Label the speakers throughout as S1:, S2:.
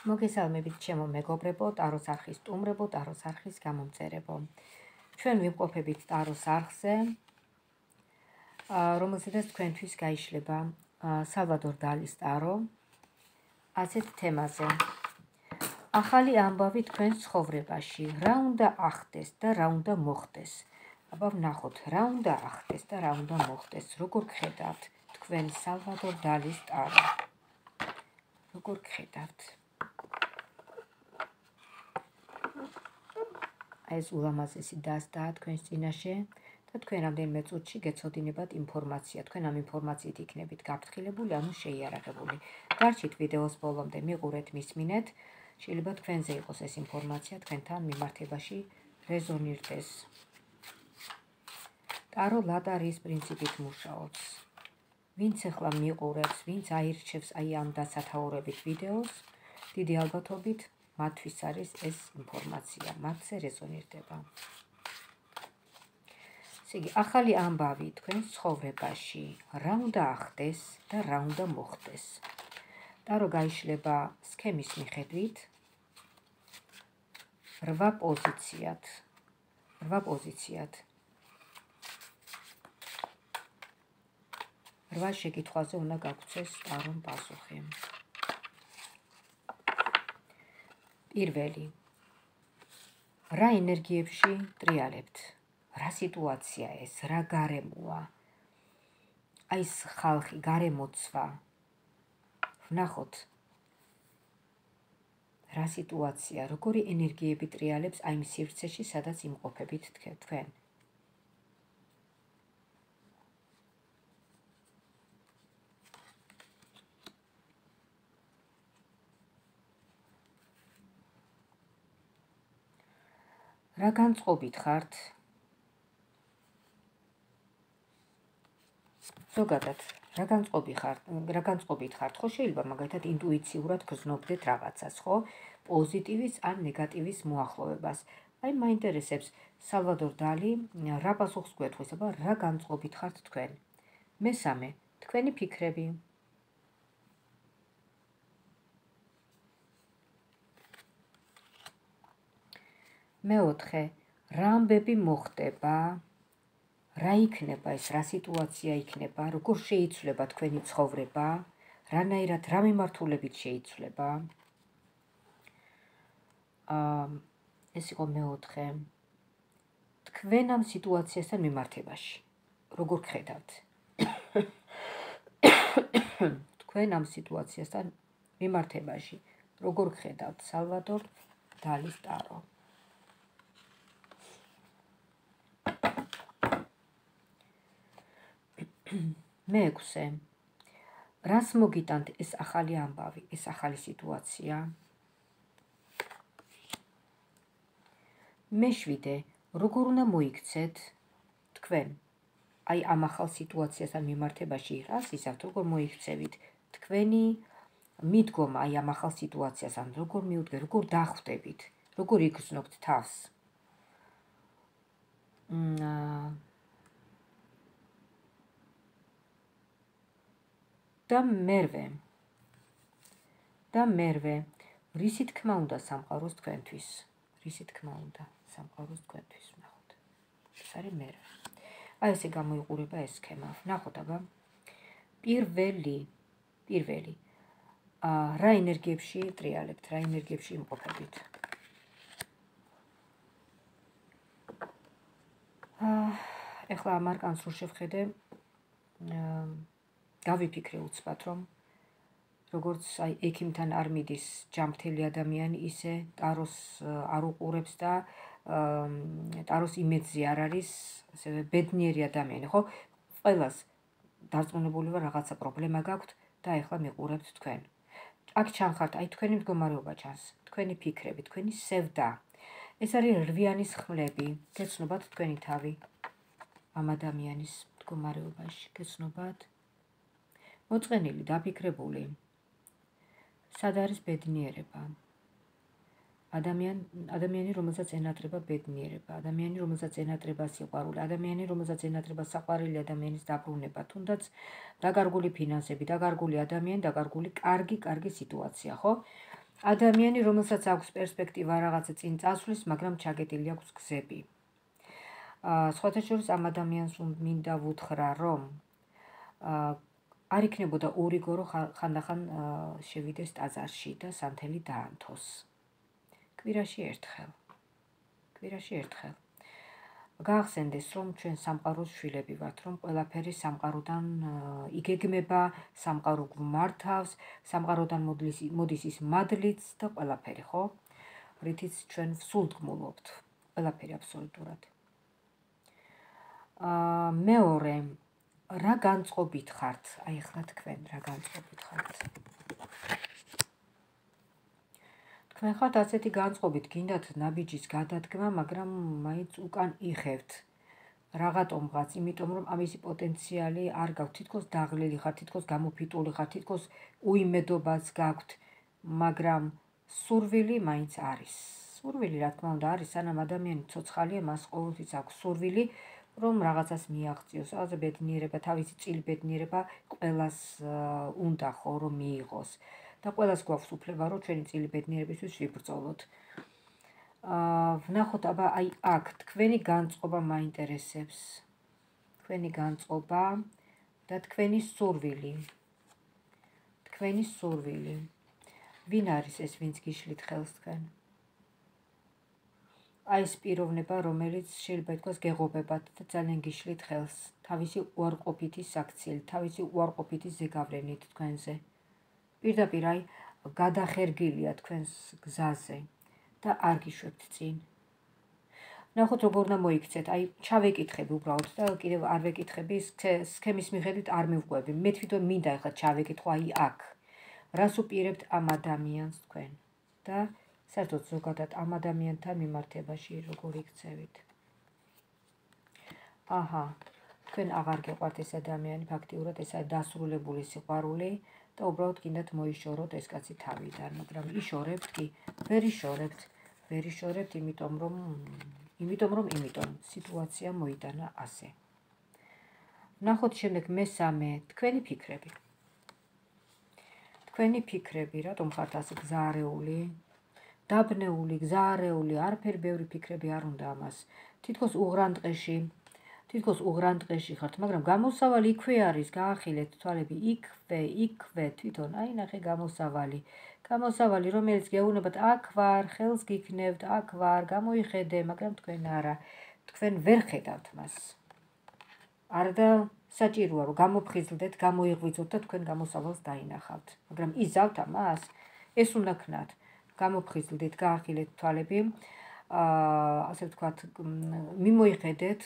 S1: მოგესალმებით ჩემო მეგობრებო, ტაროს არხის სტუმრებო, ტაროს არხის გამომწერებო. ჩვენ ვიმყოფებით ტაროს არხზე, რომელზედაც თქვენთვის გაიშლება სალვადორ დალის ტარო ასეთ თემაზე. ახალი ამბავი თქვენ ცხოვრებაში, რა უნდა ახდეს და რა უნდა მოხდეს. აბა ვნახოთ, რა უნდა ახდეს და რა უნდა მოხდეს. როგორ გხედავთ თქვენ სალვადორ დალის ტარო? როგორ გხედავთ? ეს ულამაზესი დასტაა თქვენს წინაშე და თქვენ რამდენიმე წუთში გეცოდინებათ ინფორმაცია. თქვენ ამ ინფორმაციით იქნებით გაფრთხილებული, ანუ შეიარაღებული. დარჩით ვიდეოს ბოლომდე, მიყურეთ, მისმინეთ. შეიძლება თქვენზე იყოს ეს ინფორმაცია, თქვენთან მიმართებაში რეზონირდეს. ტარო ლატარიის პრინციპით მუშაობს. ვინც ახლა მიყურებს, ვინც აირჩევს აი ამ დასათაურებით ვიდეოს, დიდი ალბათობით მათთვის არის ეს ინფორმაცია, მათზე რეზონირდება. ესე იგი, ახალი ამბავი თქვენ ცხოვრებაში, რა უნდა ახდეს და რა უნდა მოხდეს. ტარო გაიშლება სქემის მიხედვით 8 პოზიციად. 8 პოზიციად. 8 შეკითხვაზე უნდა გაგვცეს ტარომ პასუხი. პირველი. რა ენერგიებში ტრიალებთ? რა სიტუაცია ეს? რა გარემოა? აი ეს ხალხი, გარემოცვა. ვნახოთ. რა სიტუაცია, როგორი ენერგიები ტრიალებს აი იმ სივრცეში, სადაც იმყოფებით თქვენ. რა განწყობით ხართ? ზოგადად, რა განწყობით ხართ? ხო, შეიძლება მაგალითად ინტუიციურად გრძნობდეთ რაღაცას, ხო? პოზიტივის ან ნეგატივის მოახლოვებას. აი მაინტერესებს სალვადორ დალი რა პასუხს გვეთქვის, აბა რა განწყობით ხართ თქვენ? მესამე, თქვენი ფიქრები. მეოთხე, რა ამბები მოხდება? რა იქნება ეს, რა სიტუაცია იქნება, როგორ შეიცვლება თქვენი ცხოვრება, რანაირად, რა მიმართულებით შეიცვლება. ეს იყო მეოთხე. თქვენ ამ სიტუაციასთან მიმართებაში, როგორ გხედავთ? თქვენ ამ სიტუაციასთან მიმართებაში, როგორ გხედავთ სალვადორ დალის ტარო? მეექვსე. რას მოგიტანთ ეს ახალი ამბავი, ეს ახალი სიტუაცია? მეშვიდე. როგორ უნდა მოიქცეთ თქვენ? აი ამ ახალ სიტუაციასთან მიმართებაში რას იზამთ, როგორ მოიქცევით? თქვენი მიდგომა აი ამ ახალ სიტუაციასთან, როგორ მიუდგეთ, როგორ დახვდებით, როგორ იგრძნობთ თავს? და მერვე, რისი თქმა უნდა სამყაროს თქვენთვის? რისი თქმა უნდა სამყაროს თქვენთვის? ვნახოთ. ეს არის მერვე. აი ესე გამოიყურება ეს სქემა. ვნახოთ, აბა. პირველი. რა ენერგიებში ტრიალებთ, რა ენერგიებში იმყოფებით? ეხლა ამ არკანს რო შევხედე, გავიფიქრე უცბად, რომ როგორც აი ექიმთან არ მიდის ჯანმრთელი ადამიანი, ისე ტაროს არ უყურებს და ტაროს იმედზე არ არის ასევე ბედნიერი ადამიანი, ხო? ყველას დარწმუნებული ვარ რაღაცა პრობლემა გაქვთ და ეხლა მიყურებთ თქვენ. აქ ჩანხართ, აი თქვენი მდგომარეობა ჩანს, თქვენი ფიქრები, თქვენი სევდა. ეს არის რვიანის ხმლები, გეცნობათ თქვენი თავი ამ ადამიანის მდგომარეობაში, გეცნობათ? მოწყენილი, დაფიქრებული. სად არის ბედნიერება? ადამიანი, რომელსაც ენატრება ბედნიერება, ადამიანი, რომელსაც ენატრება სიყვარული, ადამიანი, რომელსაც ენატრება საყვარელი ადამიანის დაბრუნება, თუნდაც დაკარგული ფინანსები, დაკარგული ადამიანი, დაკარგული კარგი სიტუაცია, ხო? ადამიანი, რომელსაც აქვს პერსპექტივა რაღაცა წინ წასვლის, მაგრამ ჩაგეტილი აქვს გზები. სხვათა შორის ამ ადამიანს მინდა ვუთხრა, რომ არ იქნებოდა ორიგო, რომ ხანდახან შევიდეს ტაძარში და სანთელი დაანთოს. კვირაში ერთხელ. გაახსენდეს, რომ ჩვენ სამყაროს შვილები ვართ, რომ ყველაფერი სამყაროდან იგეგმება, სამყარო გვმართავს, სამყაროდან მოდის ის მადლიც და ყველაფერი, ხო? რითიც ჩვენ სულდგმულობთ, ყველაფერი აბსოლუტურად. მეორე, რა განწყობით ხართ? აი ახლა თქვენ რა განწყობით ხართ? თქვენ ხართ ასეთი განწყობით, გინდათ ნაბიჯის გადადგმა, მაგრამ მაინც უკან იხევთ რაღაცომღაც, იმიტომ რომ ამისი პოტენციალი არ გაქვთ, თითქოს დაღლილი ხართ, თითქოს გამოფიტული ხართ, თითქოს უიმედობაც გაქვთ, მაგრამ სურვილი მაინც არის. სურვილი, რა თქმა უნდა, არის, სანამ ადამიანი ცოცხალია, მას ყოველთვის აქვს სურვილი, რომ რაღაცას მიაღწიოს, რაღაცა ბედნიერება, თავისი წილი ბედნიერება ყველას უნდა ხო რომ მიიღოს. და ყველას გვაქვს უფლება, რომ ჩვენი წილი ბედნიერებისთვის ვიბრძოლოთ. ვნახოთ, აბა აი აქ თქვენი განწყობა მაინტერესებს. თქვენი განწყობა და თქვენი სურვილი. ვინ არის ეს, ვინც გიშლით ხელს თქვენ? აი ეს პიროვნება, რომელიც შეიძლება ითქვას გეღობებათ და ძალიან გიშლით ხელს, თავისი უარყოფითი საქციელით, თავისი უარყოფითი ზეგავლენით თქვენზე. პირდაპირ აი გადახერგილია თქვენს გზაზე და არ გიშვებთ წინ. ნახოთ როგორ უნდა მოიქცეთ, აი ჩავეკითხები უბრალოდ და კიდევ არ ვეკითხები, სქემის მიხედვით არ მივყვები. მე თვითონ მინდა ახლა ჩავეკითხო აი აქ. რას უპირებთ ამ ადამიანს თქვენ და საერთოდ ზოგადად ამ ადამიანთან მიმართებაში როგორ იქცევით? აჰა, თქვენ აღარ გეყვართ ეს ადამიანი, ფაქტიურად ეს არის დასრულებული სიყვარული. და უბრალოდ გინდათ მოიშოროთ ეს კაცი თავიდან, მაგრამ იშორებთ კი, ვერ იშორებთ, იმიტომ სიტუაცია მოიტანა ასე. ნახოთ შემდეგ მესამე, თქვენი ფიქრები, რატომ ხართ ასე გზაარეული, დაბნეული, გზაარეული, არაფერი ბევრი ფიქრები არ უნდა ამას. თითქოს უღრან ტყეში ხართ, მაგრამ გამოსავალი იქვე არის, გაახილეთ თვალები იქვე თვითონ, აი ნახე გამოსავალი, რომელიც გეუბნებათ, აქ ვარ, ხელს გიქნევთ, აქ ვარ, გამოიხედე, მაგრამ თქვენ არა, თქვენ ვერ ხედავთ მას. არდა საჭიროა, რომ გამოფხიზლდეთ, გამოიღვიძოთ და თქვენ გამოსავალს დაინახავთ, მაგრამ იზავთ ამას, ეს უნდა ქნათ, გამოფხიზლდით, გაახილეთ თვალები, ასე ვთქვათ, მიმოიხედეთ,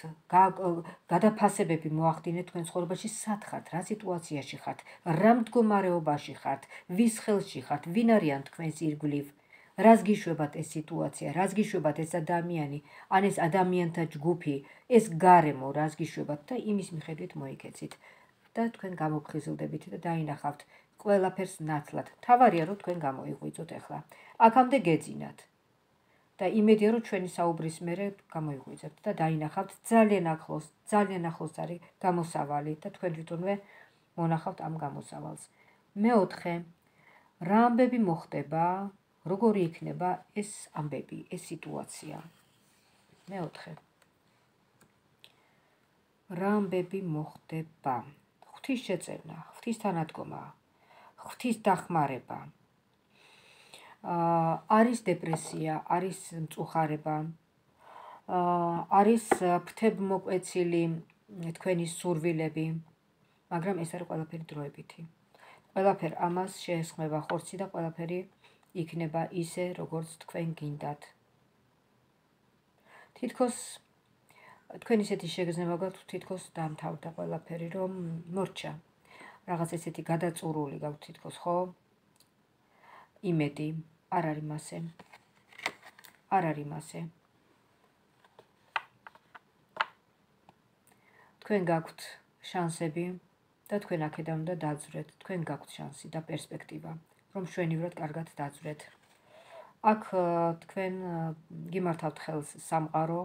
S1: გადაფასებები მოახდინეთ თქვენ ცხოვრებაში, სად ხართ, რა სიტუაციაში ხართ, რა მდგომარეობაში ხართ, ვის ხელში ხართ, ვინ არიან თქვენს ირგვლივ, რას გიშვებათ ეს სიტუაცია, რას გიშვებათ ეს ადამიანი, ან ეს ადამიანთა ჯგუფი, ეს გარემო, რას გიშვებათ და იმის მიხედვით მოიქეცით და თქვენ გამოფხიზლდებით და დაინახავთ ყველაფერს ნათლად. თავარია, რომ თქვენ გამოიღვიძოთ ახლა. აქამდე გეძინათ. და იმედია, რომ ჩვენი საუბრის მერე გამოიღვიძებთ და დაინახავთ ძალიან ახლოს არის გამოსავალი და თქვენ თვითონვე მონახავთ ამ გამოსავალს. მეოთხე, რა ამბები მოხდება, როგორი იქნება ეს ამბები, ეს სიტუაცია. მეოთხე, რა ამბები მოხდება, ღვთის შეწევნა, ღვთის თანადგომა, ღვთის დახმარება. არის დეპრესია, არის მწუხარება, არის ფრთებმოკვეცილი თქვენი სურვილები, მაგრამ ეს არის ყველაფერი დროებითი. ყველაფერ ამას შეესხმება ხორცი და ყველაფერი იქნება ისე, როგორც თქვენ გინდათ. თითქოს თქვენ ისეთი შეგრძნება გაქვთ, თითქოს დამთავრდა ყველაფერი, რომ მორჩა. რაღაც ესეთი გადაწურული გაქვთ თითქოს, ხო? იმედი არ არის მასე. თქვენ გაქვთ შანსები და თქვენ აქედან უნდა დაძვრეთ. თქვენ გაქვთ შანსი და პერსპექტივა, რომ მშვენივრად კარგად დაძვრეთ. აქ თქვენ გიმართავთ ხელს სამყარო,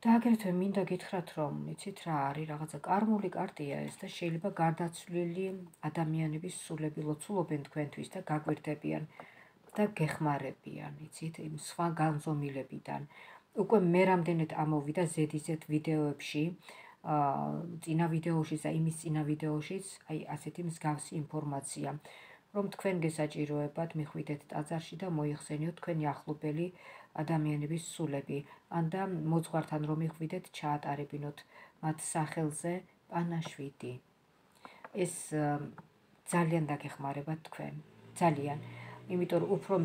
S1: და აგრეთვე მინდა გითხრათ, რომ იცით რა არის, რაღაცა კარმული კარტია ეს და შეიძლება გარდაცვლილი ადამიანების სულები ლოცულობენ თქვენთვის და გაგვირდებიან და გეხმარებიან, იცით, იმ სხვა განზომილებიდან. უკვე მე რამდენად ამოვიდა ზედიზედ ვიდეოებში, წინა ვიდეოშიც და იმის წინა ვიდეოშიც, აი ასეთი მსგავსი ინფორმაცია, რომ თქვენ გესაჭიროებათ მიხვიდეთ ტაძარში და მოიხსენიოთ თქვენი ახლობელი ადამიანების სულები, ან და მოძღვართან რომ მიხვიდეთ ჩაატარებინოთ მათ სახელზე პანაშვიდი. ეს ძალიან დაგეხმარებათ თქვენ, ძალიან, იმიტომ რომ უფრო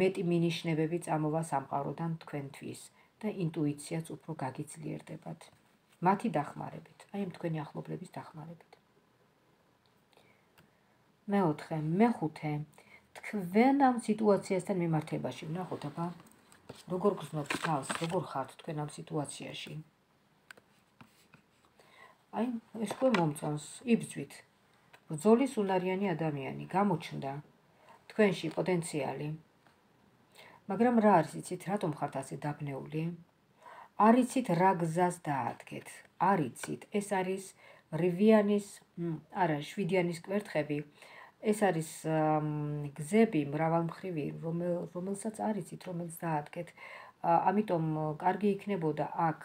S1: მეტი მინიშნებები წამოვა სამყაროდან თქვენთვის და ინტუიციაც უფრო გაგიძლიერდებათ. მათი დახმარებით, აი ამ თქვენი ახლობლების დახმარებით. მეხუთე, თქვენ ამ სიტუაციასთან მიმართებაში ვნახოთ, აბა, როგორ გრძნობთ თავს, როგორ ხართ თქვენ ამ სიტუაციაში. აი, ეს თქვენ მომწონს, იბრძვით. ბრძოლის უნარიანი ადამიანი, გამოჩნდა თქვენში პოტენციალი. მაგრამ რა არის, იცით, რატომ ხართ ასე დაბნეული? არ იცით რა გზას დაადგეთ. არ იცით, ეს არის შვიდიანის კვერთხები. ეს არის გზები მრავალმხრივი, რომელსაც არ იცით, რომელიც დაადგეთ. ამიტომ კარგი იქნებოდა აქ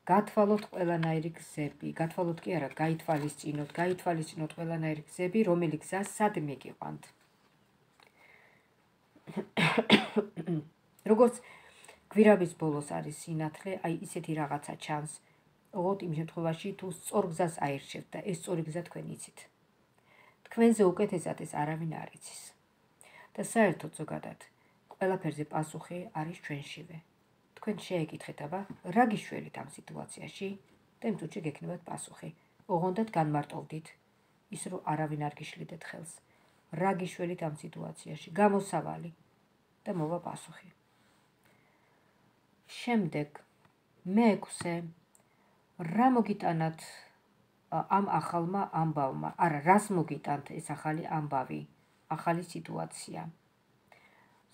S1: გათვალოთ ყველანაირი გზები. გათვალოთ კი არა, გაითვალისწინოთ ყველანაირი გზები, რომელი გზა სად მიგიყვანთ. როგორც გვირაბის ბოლოს არის სინათლე, აი ისეთი რაღაცა ჩანს. ოღონდ იმ შემთხვევაში თუ სწორ გზას აირჩევთ და ეს სწორი გზა თქვენ იცით. თქვენზე უკეთესად ეს არავინ არ იცის. და საერთოდ ზოგადად, ყველაფერზე პასუხი არის ჩვენშივე. თქვენ შეეკითხეთ, აბა, რა გიშველით ამ სიტუაციაში და იმ წუთში გექნებათ პასუხი. ოღონდად განმარტოვდით, ის რომ არავინ არ გიშლიდეთ ხელს. რა გიშველით ამ სიტუაციაში, გამოსავალი და მოვა პასუხი. შემდეგ, მე-6, რა მოგიტანათ ამ ახალმა ამბავმა, არა, რას მოგიტანთ ეს ახალი ამბავი, ახალი სიტუაცია.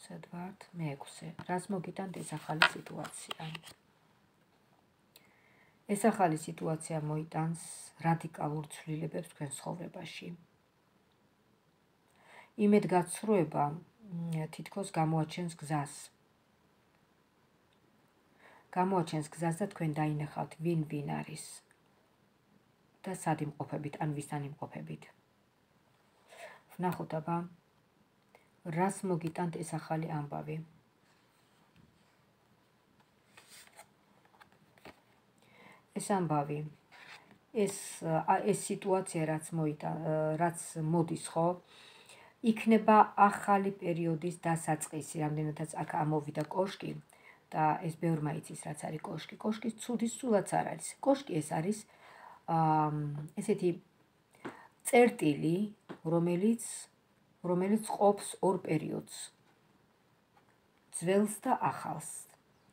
S1: სად ვართ? მე-6, რას მოგიტანთ ეს ახალი სიტუაცია. ეს ახალი სიტუაცია მოიტანს რადიკალურ ცვლილებებს თქვენ ცხოვრებაში. იმედგაცრუება თითქოს გამოაჩენს გზას. და თქვენ დაინახავთ ვინ არის და სად იმყოფებით, ან ვისთან იმყოფებით. ვნახოთ, აბა, რას მოგიტანთ ეს ახალი ამბავი. ეს ამბავი, ეს სიტუაცია, რაც მოდის, ხო, იქნება ახალი პერიოდის დასაწყისი, რამდენადაც აქ ამოვიდა კოშკი და ეს ბევრმა იცის, რაც არის კოშკი. კოშკის ცუდის სულაც არ არის. კოშკი ეს არის ესეთი წერტილი, რომელიც ყოფს ორ პერიოდს. ძველს და ახალს.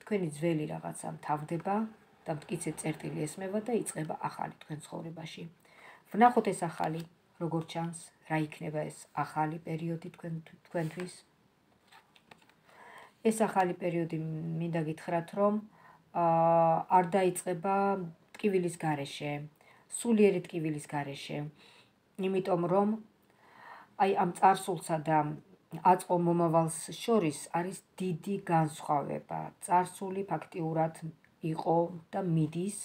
S1: თქვენი ძველი რაღაცა მთავრდება და მტკიცე წერტილი ესმება და იწყება ახალი თქვენ ცხოვრებაში. ვნახოთ ეს ახალი, როგორ ჩანს, რა იქნება ეს ახალი პერიოდი თქვენთვის. ეს ახალი პერიოდი მინდა გითხრათ, რომ არ დაიწყება ტკივილის გარეშე, სულიერი ტკივილის გარეშე, იმიტომ რომ აი ამ წარსულსა და აწყო მომავალს შორის არის დიდი განსხვავება. წარსული ფაქტიურად იყო და მიდის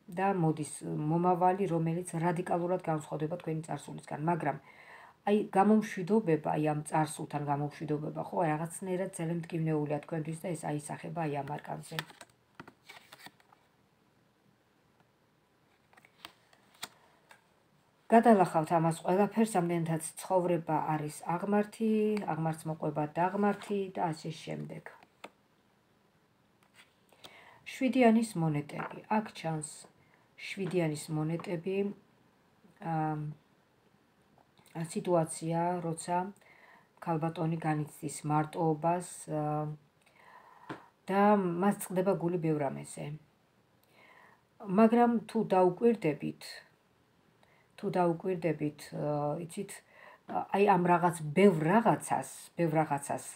S1: და მოდის მომავალი, რომელიც რადიკალურად განსხვავდება თქვენი წარსულისგან, მაგრამ აი გამომშვიდობება, აი ამ წარსულთან გამომშვიდობება, ხო, რაღაცნაირად ძალიან მტკივნეულია თქვენთვის და ეს აისახება აი ამ არკანზე. გადალახავთ ამას ყველაფერს, ამდენადაც ცხოვრება არის აღმართი, აღმართს მოყვება დაღმართი და ასე შემდეგ. შვიდიანის მონეტები. აქ ჩანს შვიდიანის მონეტები, სიტუაცია, როცა ქალბატონი განიცდის მარტოობას და მას წყდება გული ბევრ რამეზე. მაგრამ თუ დაუკვირდებით, იცით, აი ამ რაღაც ბევრ რაღაცას,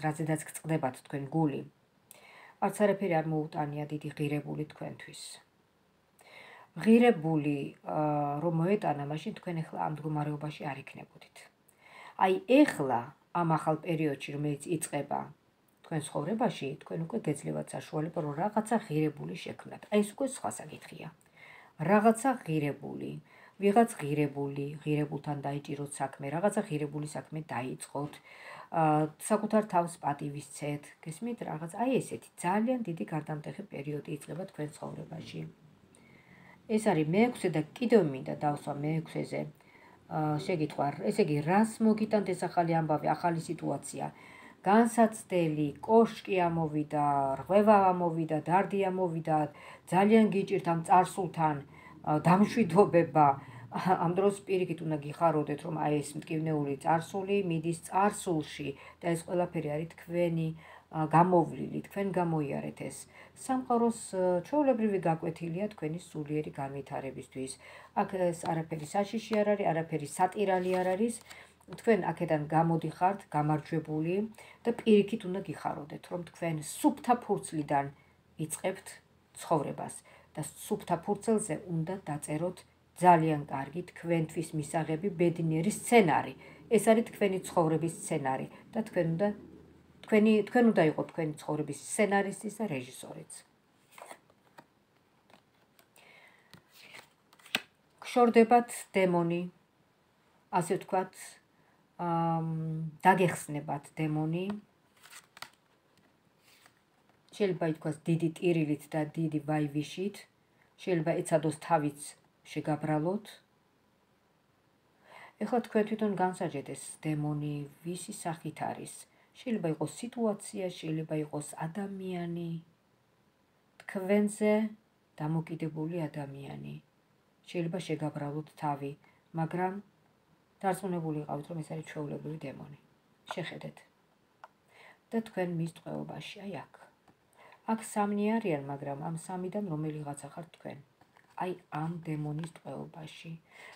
S1: რაზედაც გწყდებათ თქვენ გული, არც არაფერი არ მოუტანია დიდი ღირებული თქვენთვის. ღირებული რომ მოეტანა, მაშინ თქვენ ახლა ამ მდგომარეობაში არ იქნებოდით. აი ახლა ამ ახალ პერიოდში, რომელიც იწყება თქვენ ცხოვრებაში, თქვენ უკვე გეძლევათ საშუალება, რომ რაღაცა ღირებული შექმნათ. აი ეს უკვე სხვა საკითხია. რაღაცა ღირებული, ვიღაც ღირებულთან დაიჭიროთ საქმე, რაღაცა ღირებული საქმე დაიწყოთ, საკუთარ თავს პატივისცეთ, გესმით რაღაც, აი ესეთი ძალიან დიდი გარდამტეხი პერიოდი იწყება თქვენ ცხოვრებაში. ეს არის მე-6 და კიდევ მინდა დავსვა მე-6-ზე შეკითხვა, ესე იგი, რას მოგიტანთ ეს ახალი ამბავი, ახალი სიტუაცია? განსაცდელი, კოშკი ამოვიდა, რღვევა ამოვიდა, დარდი ამოვიდა, ძალიან გიჭირთ ამ წარსულთან დამშვიდობება. ამ დროს პირიქით უნდა გიხაროდეთ, რომ აი ეს მტკივნეული წარსული მიდის წარსულში და ეს ყველაფერი არის თქვენი გამოვლილი, თქვენ გამოიარეთ ეს. სამყაროს ჩვეულებრივი გაკვეთილია თქვენი სულიერი განვითარებისთვის. აქ ეს არაფერი საშიში არ არის, არაფერი სატირალი არ არის. თქვენ აქედან გამოდიხართ, გამარჯვებული და პირიქით უნდა გიხაროდეთ, რომ თქვენ სუფთა ფურცლიდან იწყებთ ცხოვრებას და სუფთა ფურცელზე უნდა დაწეროთ ძალიან კარგი თქვენთვის მისაღები ბედნიერი სცენარი. ეს არის თქვენი ცხოვრების სცენარი და თქვენ უნდა იყოთ თქვენი ცხოვრების სცენარისტი და რეჟისორიც. გშორდებათ დემონი, ასე ვთქვათ, დაგეხსნებათ დემონი. შეიძლება ითქვას დიდი ტირილით და დიდი ვაივიშით, შეიძლება ეცადოს თავიც შეგაბრალოთ. ეხლა თქვენ თვითონ განსაჯეთ ეს დემონი ვისი სახით არის. შეიძლება იყოს სიტუაცია, შეიძლება იყოს ადამიანი, თქვენზე დამოკიდებული ადამიანი. შეიძლება შეგაბრალოთ თავი, მაგრამ დარწმუნებული იყავით, რომ ეს არის ჩვეულებრივი დემონი. შეხედეთ. და თქვენ მის ტყვეობაში, აი აქ. აქ სამნი არიან, მაგრამ ამ სამიდან რომელიღაცა ხართ თქვენ. აი ამ დემონის ტყვეობაში.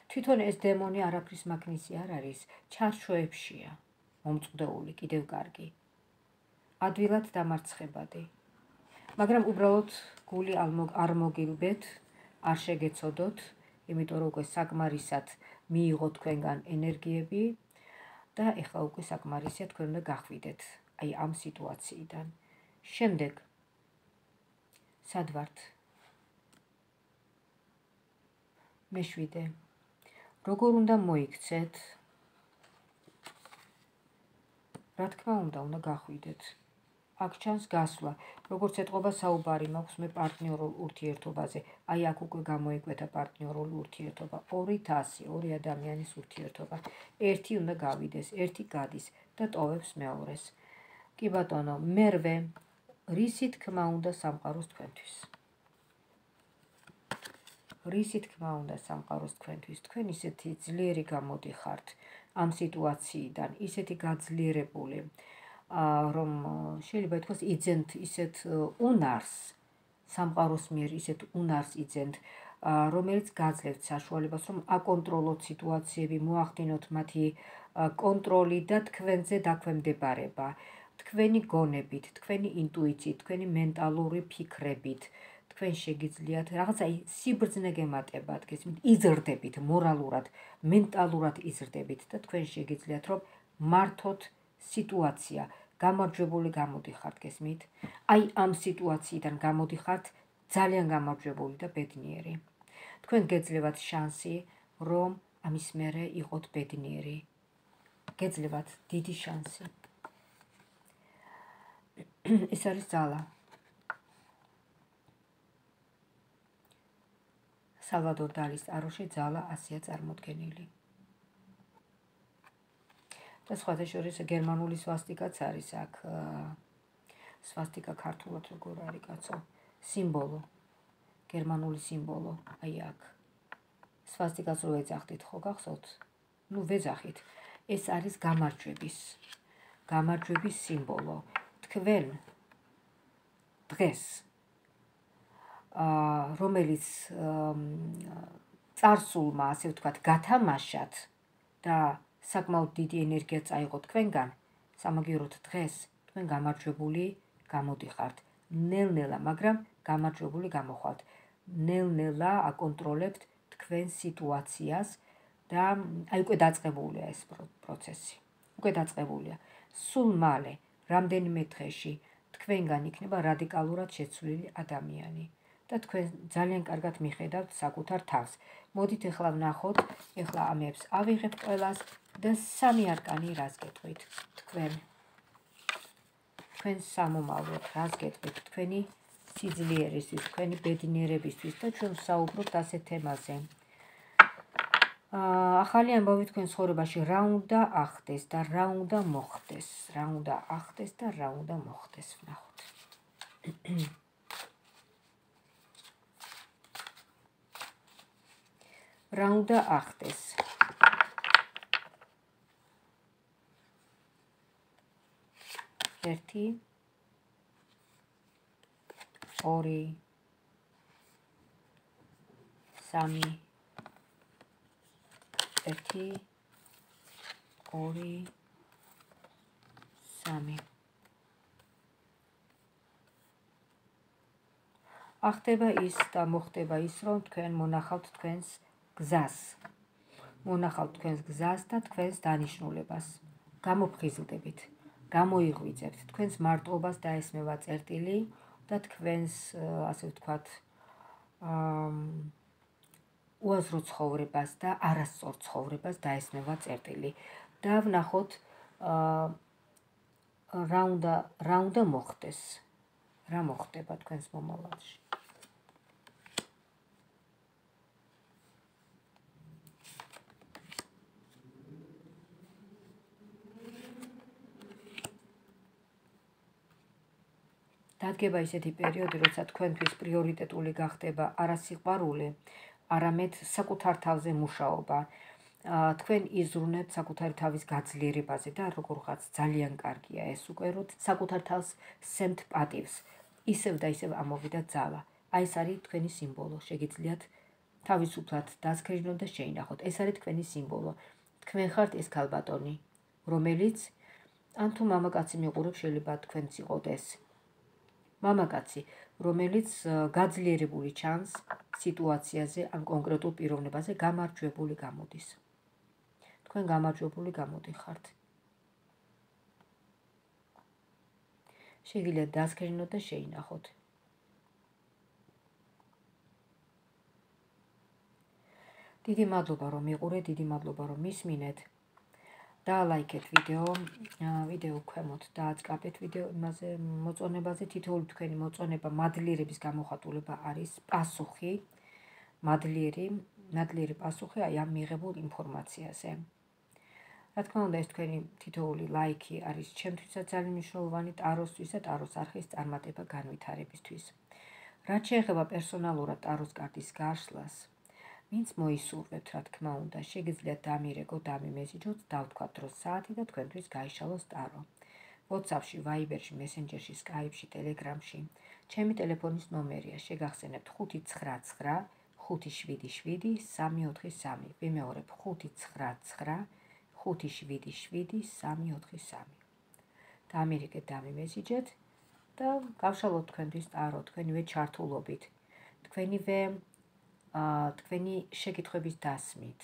S1: თვითონ ეს დემონი არაფრის მაგნისი არ არის, ჩარჩოებშია, მომწყდეული, კიდევ კარგი. ადვილად დამარცხებადი. მაგრამ უბრალოდ გული არ მოგილბეთ, არ შეგეცოდოთ, იმიტომ რომ უკვე საკმარისად მიიღოთ თქვენგან ენერგიები და ეხლა უკვე საკმარისია თქვენ უნდა გახვიდეთ აი ამ სიტუაციიდან. შემდეგ სად ვართ? მე-7. როგორ უნდა მოიქცეთ? რა თქმა უნდა გახვიდეთ. აქ ჩანს გასვლა, როგორც ეთყობა საუბარი მაქვს მე პარტნიორულ ურთიერთობაზე. აი აქ უკვე გამოიკვეთა პარტნიორული ურთიერთობა. 200, ორი ადამიანის ურთიერთობა. ერთი უნდა გავიდეს, ერთი გადის და ტოვებს მეორეს. კი ბატონო, მერვე, რისი თქმა უნდა სამყაროს თქვენთვის? რისი თქმა უნდა სამყაროს თქვენთვის? თქვენ ისეთი ძლიერი გამოდიხართ ამ სიტუაციიდან, ისეთი გაძლიერებული, რომ შეიძლება ითქვას იძენთ ისეთ უნარს, სამყაროს მიერ ისეთ უნარს იძენთ, რომელიც გაძლევთ საშუალებას, რომ აკონტროლოთ სიტუაციები, მოახდინოთ მათი კონტროლი და თქვენზე დაქვემდებარება, თქვენი გონებით, თქვენი ინტუიციით, თქვენი მენტალური ფიქრებით, თქვენ შეგიძლიათ რაღაცა სიბრძნე გემატებათ, გესმით, იზრდებით მორალურად, მენტალურად იზრდებით და თქვენ შეგიძლიათ რომ მართოთ სიტუაცია, გამარჯვებული გამოდიხართ, გესმით? აი ამ სიტუაციიდან გამოდიხართ ძალიან გამარჯვებული და ბედნიერი. თქვენ გეძლევათ შანსი, რომ ამის მერე იყოთ ბედნიერი. გეძლევათ დიდი შანსი. ეს არის ძალა. სალვადორ დალის ტაროში ძალა ასია წარმოდგენილი. და სხვათა შორის გერმანული სვასტიკაც არის აქ. სვასტიკა ქართულად როგორ არის კაცო? სიმბოლო. გერმანული სიმბოლო, აი აქ. სვასტიკას რო ეძახდით, ხო გახსოვთ? ნუ ვეძახით. ეს არის გამარჯვების სიმბოლო. თქვენ დღეს რომელიც წარსულმა, ასე ვთქვათ, გათამაშათ და საკმაოდ დიდი ენერგია წაიღო თქვენგან, სამაგიეროდ დღეს თქვენ გამარჯვებული გამოდიხართ. ნელ-ნელა, მაგრამ გამარჯვებული გამოხვალთ. ნელ-ნელა აკონტროლებთ თქვენ სიტუაციას და აი უკვე დაწყებულია ეს პროცესი. უკვე დაწყებულია. სულ მალე, რამდენიმე დღეში თქვენგან იქნება რადიკალურად შეცვლილი ადამიანი და თქვენ ძალიან კარგად მიხედავთ საკუთარ თავს. მოდით ახლა ვნახოთ, ახლა ამებს ავიღებ ყველას და 3 არკანი რას გეტყვით თქვენ სამომავლოდ, რას გეტყვით თქვენი სიძლიერისთვის, თქვენი ბედნიერებისთვის და ჩვენ ვსაუბრობთ ასეთ თემაზე. ახალი ამბავი თქვენ ცხოვრებაში რა უნდა ახდეს და რა უნდა მოხდეს, რა უნდა ახდეს და რა უნდა მოხდეს, ვნახოთ. რა უნდა ახდეს. ერთი, ორი, სამი, ერთი, ორი, სამი. ახდება ის და მოხდება ის, რომ თქვენ მონახავთ თქვენს გზას. მონახავთ თქვენს გზას და თქვენს დანიშნულებას. გამოფხიზლდებით, გამოიღვიძებთ თქვენს მარტოობას დაესმევა წერტილი და თქვენს, ასე ვთქვათ, უაზრო ცხოვრებას და არასწორ ცხოვრებას დაესმევა წერტილი. და ვნახოთ, რა უნდა მოხდეს, რა მოხდება თქვენს მომავალში. დადგება ისეთი პერიოდი, როცა თქვენთვის პრიორიტეტული გახდება არა სიყვარული, არამედ საკუთარ თავზე მუშაობა. თქვენ იზრუნებთ საკუთარი თავის გაძლიერებაზე და როგორღაც ძალიან კარგია ეს უკვე, რომ საკუთარ თავს სცემთ პატივს. ისევ და ისევ ამოვიდა ძალა. აი ეს არის თქვენი სიმბოლო. შეგიძლიათ თავისუფლად დასქრინოთ და შეინახოთ. ეს არის თქვენი სიმბოლო. თქვენ ხართ ეს ქალბატონი, რომელიც ან თუ მამაკაცი მიყურებს, შეიძლება თქვენც იყოთ ეს. მამაკაცი, რომელიც გაძლიერებული ჩანს სიტუაციაზე ან კონკრეტულ პიროვნებაზე, გამარჯვებული გამოდის. თქვენ გამარჯვებული გამოდიხართ. შეგიძლიათ დასქრინოთ და შეინახოთ. დიდი მადლობა რომ მიყურეთ, დიდი მადლობა რომ მისმინეთ. დაალაიქეთ ვიდეო ქვემოთ დააწყაბეთ ვიდეო იმაზე მოწონებაზე. თითოეული თქვენი მოწონება, მადლიერების გამოხატულება არის პასუხი, მადლიერი პასუხი აი ამ მიღებულ ინფორმაციაზე. რა თქმა უნდა, ეს თქვენი თითოეული ლაიქი არის ჩემთვისაც ძალიან მნიშვნელოვანი ტაროსთვის და ტაროს არხის წარმატება განვითარებისთვის. რაც შეეხება პერსონალურად ტაროს კარტის გაშლას, ვინც მოისურვებთ, რა თქმა უნდა, შეგიძლიათ დამირეკო, დამიმესიჯოთ, დავთქვათ დრო საათი და თქვენთვის გაიშალოს ტარო. WhatsApp-ში, Viber-ში, Messenger-ში, Skype-ში, Telegram-ში. ჩემი ტელეფონის ნომერია, შეგახსენებთ 599 577 343. ვიმეორებ 599 577 343. დამირეკეთ, დამიმესიჯეთ და გავშალოთ თქვენთვის ტარო, თქვენივე ჩართულობით, თქვენი შეკითხვების დასმით.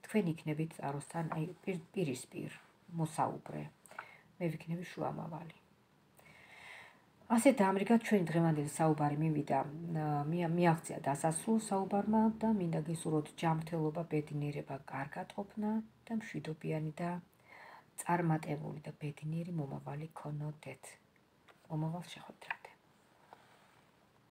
S1: თქვენ იქნებით ტაროსთან აი პირისპირ მოსაუბრე. მე ვიქნები შუამავალი. ასე დაამრიგად ჩვენი დღევანდელი საუბარი მივიდა, მიაღწია დასასრულ საუბარმა და მინდა გესურვოთ ჯანმრთელობა, ბედნიერება, კარგატყოფნა და მშვიდობიანი და წარმატებული და ბედნიერი მომავალი გქონოდეთ. მომავალ შეხვედრამდე.